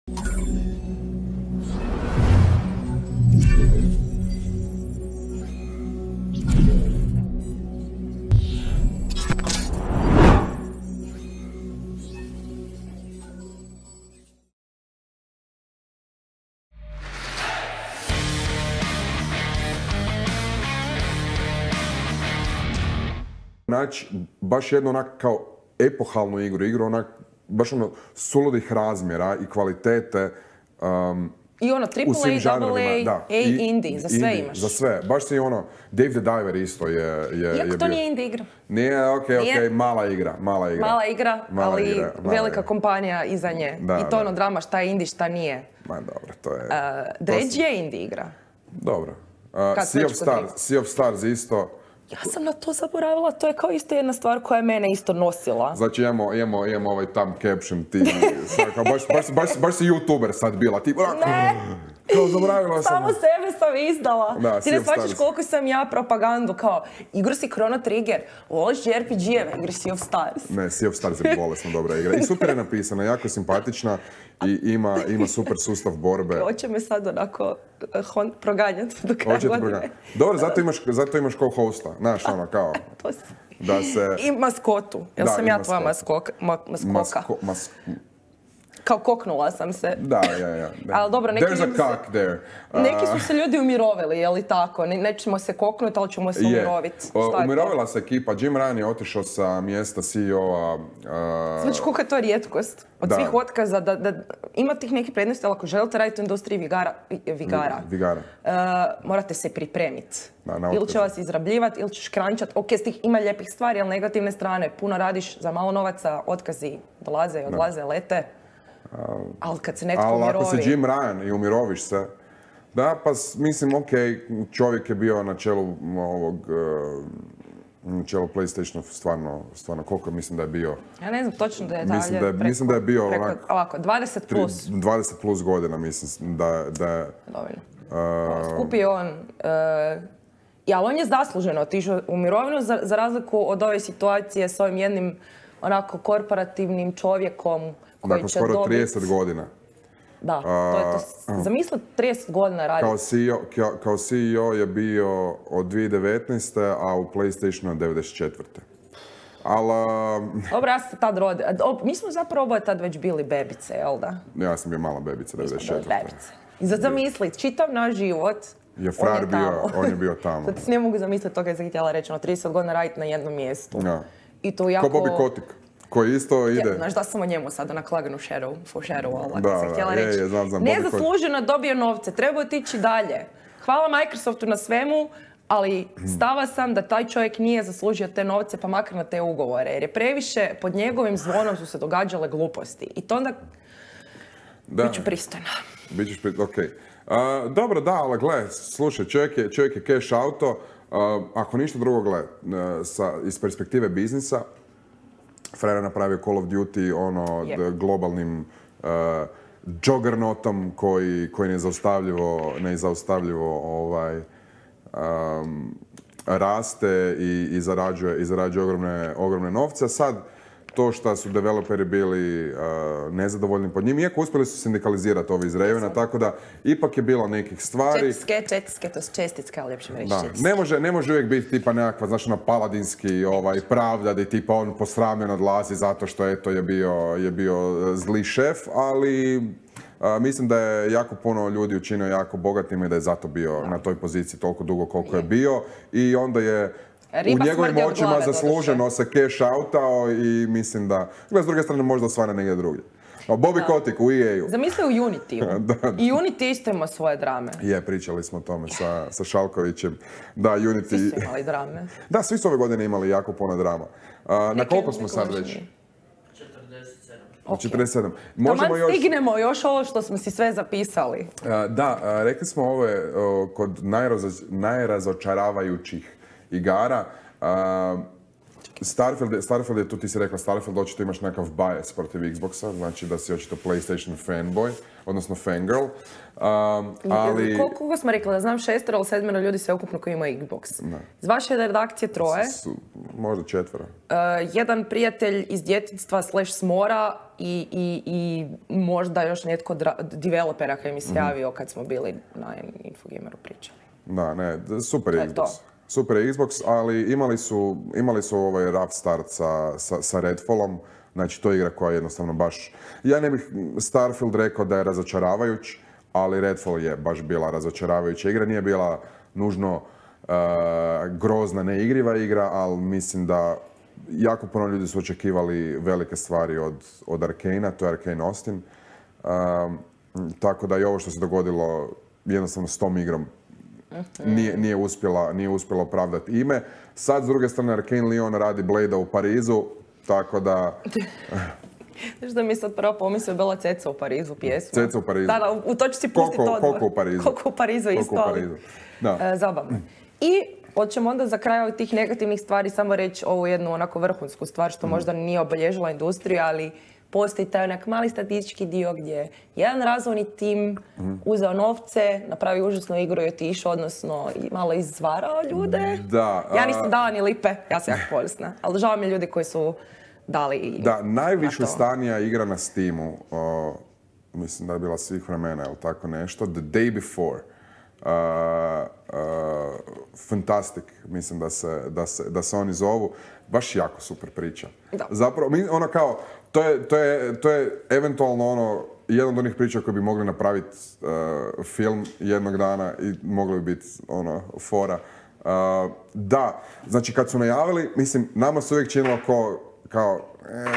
Naći baš jednu onak kao epohalnu igru onak baš ono suludih razmjera i kvalitete i ono u svim AAA, žanrovima. AA, indie, za sve imaš. Za sve. Baš si ono, Dave the Diver isto je Iako to nije indie igra. Nije, okej, mala igra. Mala igra, ali velika kompanija iza nje. I to ono drama šta je indie, šta nije. Ma dobro, to je... Dredge je indie igra. Dobro. Sea of Stars isto. Ja sam na to zaboravila, to je kao isto jedna stvar koja je mene isto nosila. Znači imamo ovaj tam caption, ti, baš si youtuber sad bila, ti, ne, kao zaboravila sam. Samo sebe sam izdala. Da, ti ne shvaćaš koliko sam ja propagandu, kao igru si Chrono Trigger, voliš RPG-eve, igri Sea of Stars. Ne, Sea of Stars je bolesno dobra igra i super je napisana, jako simpatična i ima super sustav borbe. Hoće me sad onako proganjati do kraja godine. Dobro, zato imaš kao hosta, znaš ono kao... To si. Da se... I maskotu, jer sam ja tvoja maskoka. Kao koknula sam se. Da. Ali dobro, There's a cock there. Neki su se ljudi umirovili, je li tako? Nećemo se koknuti, ali ćemo se umiroviti. Umirovila se ekipa. Jim Ryan je otišao sa mjesta CEO-a. Znači, koliko je to rijetkost od svih otkaza da ima tih nekih prednosti, ali ako želite raditi u industriji vigara, morate se pripremiti. Ili će vas izrabljivati, ili ćeš krančati. Ok, s tih ima lijepih stvari, ali negativne strane. Puno radiš za malo novaca, otkazi dolaze i odlaze, lete. Ali kad se netko umirovi... Ali ako si Jim Ryan i umiroviš se, da, pa mislim, ok, čovjek je bio na čelu čelo PlayStationa stvarno, koliko mislim da je bio? Ja ne znam točno detalje. Mislim da je bio ovako, 20 plus. 20 plus godina, mislim da je... Dovoljno. Skupi on... Ali on je zasluženo otišao u mirovinu za razliku od ove situacije s ovim jednim onako korporativnim čovjekom dakle, skoro 30 godina. Da, to je to. Zamisli 30 godina raditi. Kao CEO je bio od 2019. a u PlayStationu od 94. Dobro, ja sam se tad rodio. Mi smo zapravo oboje tad već bili bebice, jel da? Ja sam bio mala bebica, 94. I sad zamisli, čitav naš život, on je bio tamo. Sad si ne mogu zamisliti to kad sam htjela reći, 30 godina raditi na jednom mjestu. I to jako... Ko Bobby Kotick, koji isto ide... Znaš da sam o njemu sad onak laganu foreshadow, ali sam htjela reći. Nezasluženo dobio novce, treba otići dalje. Hvala Microsoftu na svemu, ali stava sam da taj čovjek nije zaslužio te novce, pa makar na te ugovore. Jer je previše, pod njegovim zvonom su se događale gluposti. I to onda... Biću pristojna. Bićeš pristojna, okej. Dobro, da, ali gle, slušaj, čovjek je cash auto. Ako ništa drugo, gle, iz perspektive biznisa, frajer je napravio Call of Duty globalnim juggernautom koji nezaustavljivo raste i zarađuje ogromne novce. Sad, to što su developeri bili nezadovoljni pod njim, iako uspjeli su sindikalizirati ovi iz Ravena, tako da ipak je bilo nekih stvari. Čestitke, to su čestitke, ali ljepše reći čestitke. Ne može uvijek biti tipa nekakva, znaš, paladinski pravda, da tipa on posramljen odlazi zato što eto je bio zli šef, ali mislim da je jako puno ljudi učinio jako bogatim i da je zato bio na toj poziciji toliko dugo koliko je bio i onda je u njegovim očima zasluženo se cash outao i mislim da... S druge strane možda osvane negdje drugdje. Bobby Kotick u EA-u. Zamisli u Unity-u. I Unity isto ima svoje drame. Pričali smo o tome sa Šalkovićem. Da, Unity... Svi su imali drame. Da, svi su ove godine imali jako puno drama. Na koliko smo sad već? 47. Taman stignemo još ovo što smo si sve zapisali. Da, rekli smo ovo kod najrazočaravajućih igara. Starfield je, tu ti si rekla, Starfield očito imaš nekakav bias protiv Xboxa, znači da si očito PlayStation fanboy, odnosno fangirl. Ali... Koliko smo rekli, da znam 6 ili 7 ljudi sveukupno koji imaju Xbox. Iz vaše redakcije 3. Možda 4. Jedan prijatelj iz djetinjstva / smora i možda još netko developera koji mi se javio kad smo bili na Infogameru pričali. Da, ne, super je Xbox. Super je Xbox, ali imali su ovaj rough start sa Redfallom. Znači, to je igra koja je jednostavno baš... Ja ne bih Starfield rekao da je razočaravajuć, ali Redfall je baš bila razočaravajuća igra. Nije bila nužno grozna, neigriva igra, ali mislim da jako puno ljudi su očekivali velike stvari od Arkana, to je Arkane Austin. Tako da i ovo što se dogodilo jednostavno s tom igrom nije uspjela opravdati ime. Sad, s druge strane, Arkane Lyon radi Blade-a u Parizu, tako da... Znaš da mi sad prvo pomislio bila Ceca u Parizu pjesma. Ceca u Parizu. Da, to ću si pustiti odmah. Koliko u Parizu. Koliko u Parizu isto, ali zabavno. I hoćemo onda za kraj ovih tih negativnih stvari samo reći ovu jednu onako vrhunsku stvar što možda nije obilježila industriju, ali postoji taj onak mali statistički dio gdje jedan razvojni tim uzeo novce, napravio užasnu igru i otišao, odnosno malo izvarao ljude. Ja nisam dala ni lipe, ja sam jako polisna, ali žao mi ljudi koji su dali da, najviše stanija igra na Steamu, mislim da je bila svih vremena ili tako nešto, The Day Before. Fantastic, mislim da se oni zovu. Baš jako super priča. Da. Zapravo, ono kao, to je eventualno ono, jedan od onih priča koji bi mogli napraviti film jednog dana i mogli bi biti ono, fora. Da, znači kad su najavili, mislim, nama se uvijek činilo kao,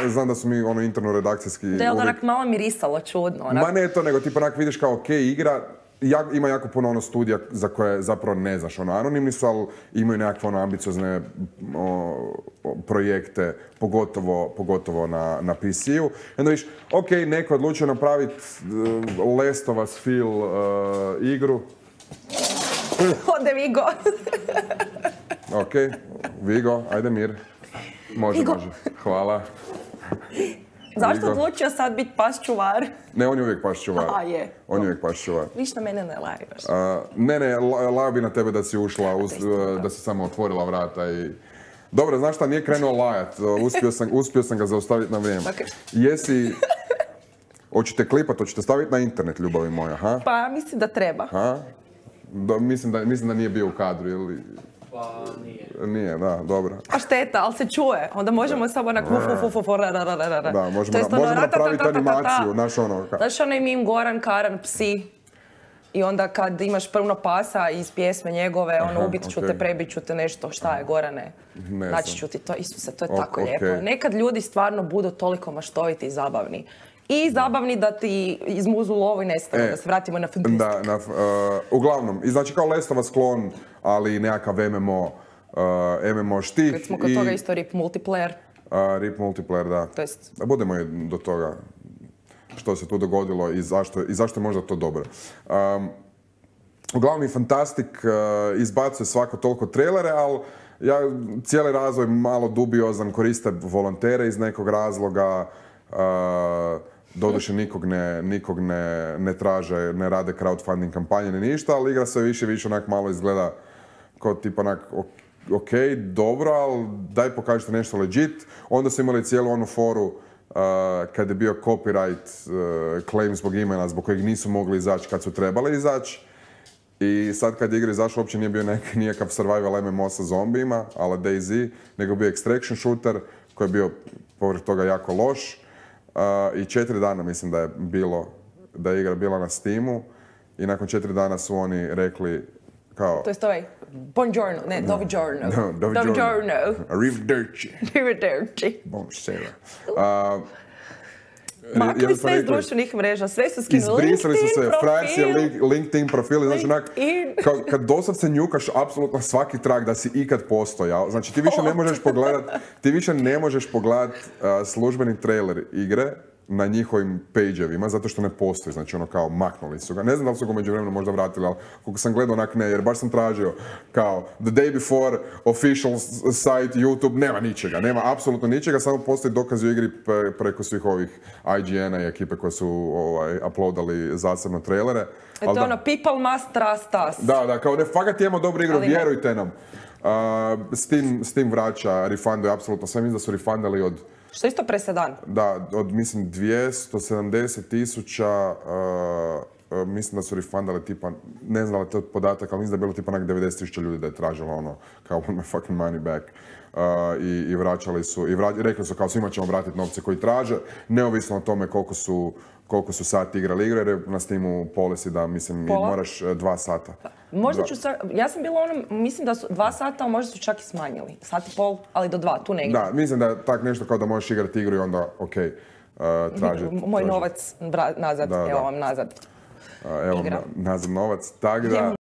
znam da su mi ono interno redakcijski... Da je onak malo mirisalo čudno. Ma ne to, nego tipa onak vidiš kao okej, igra, ima jako puno ono studija za koje zapravo ne znaš, ono anonimni su, ali imaju nekakve ono ambiciozne projekte, pogotovo na PC-u. I onda viš, okej, neko je odlučio napraviti Last of Us feel igru. Ode Vigo. Okej, Vigo, ajde mir. Može. Hvala. Zašto odlučio sad biti pas čuvar? Ne, on je uvijek pas čuvar. A, je. On je uvijek pas čuvar. Viš na mene ne lajaš. Ne, lajao bi na tebe da si ušla, da si samo otvorila vrata i... Dobro, znaš šta, nije krenuo lajat. Uspio sam ga zaustaviti na vrijeme. Jesi... Hoćete klipat, hoćete staviti na internet, ljubavi moja, ha? Pa, mislim da treba. Mislim da nije bio u kadru, ili... Pa nije. Nije, da, dobro. A šteta, ali se čuje. Onda možemo samo onak Da, možemo napraviti animaciju, znaš ono... Znaš onaj meme Goran, Karan, psi. I onda kad imaš puno pasa iz pjesme njegove, ono ubit ću te, prebit ću te nešto, šta je Gorane? Znači ću ti to, Isuse, to je tako lijepo. Nekad ljudi stvarno budu toliko maštoviti i zabavni. I zabavni da ti izmuzu lovu i nestanu, da se vratimo na fantastiku. Uglavnom, i znači kao Last of Us klon, ali nekakav MMO štih. Kad smo kod toga isto RIP multiplayer. RIP multiplayer, da. To jest... Budemo i do toga što se tu dogodilo i zašto je možda to dobro. Uglavnom, Fantastic izbacuje svako toliko trailere, ali cijeli razvoj malo dubiozan, koriste volontere iz nekog razloga. Doduše nikog ne traže, ne rade crowdfunding kampanje ni ništa, ali igra se više onak malo izgleda kao tipa onak ok, dobro, ali daj pokažite nešto legit. Onda su imali cijelu onu foru kad je bio copyright claim zbog imena, zbog kojeg nisu mogli izaći kad su trebali izaći. I sad kad je igra izašla, uopće nije bio nikakav survival MMO sa zombijima, ala DayZ, nego bio extraction shooter koji je bio povrh toga jako loš. I 4 dana mislim da je igra bila na Steamu i nakon 4 dana su oni rekli kao... To je ovaj, buongiorno, ne, dovigiorno. Dovigiorno. Arrivederci. Arrivederci. Buonasera. Makli sve iz društvenih mreža, sve su skinuli. Izbrisali su se frajerci LinkedIn profili, znači onak, kad doslovce njukaš apsolutno svaki trag da si ikad postojao, znači ti više ne možeš pogledat službeni trailer igre na njihovim page-evima, zato što ne postoji, znači ono kao maknuli su ga. Ne znam da li su ga međuvremeno možda vratili, ali koliko sam gledao onak ne, jer baš sam tražio kao the day before official site YouTube, nema ničega, nema apsolutno ničega, samo postoji dokaz u igri preko svih ovih IGN-a i ekipe koje su uploadali zasebno trailere. To je ono, people must trust us. Da, kao ne, fakat imamo dobru igru, vjerujte nam. Steam vraća, refunduje apsolutno sve, mislim da su refundali od... Što je isto presedan. Da, od mislim 270,000, mislim da su refundali tipa, ne znam da li to je podatak, ali mislim da je bilo tipa onak 90,000 ljudi da je tražilo ono, kao want my fucking money back. I vraćali su, rekli su kao svima ćemo vratiti novce koji traže, neovisno o tome koliko su sati igrali igre, jer je na Steamu policy da, mislim, moraš 2 sata. Možda ću ja sam bila mislim da su 2 sata, a možda su čak i smanjili. 1,5, ali do 2, tu negdje. Da, mislim da je tak nešto kao da možeš igrati igru i onda, tražiti. Moj novac nazad, evo vam nazad. Evo nazad novac, tak da...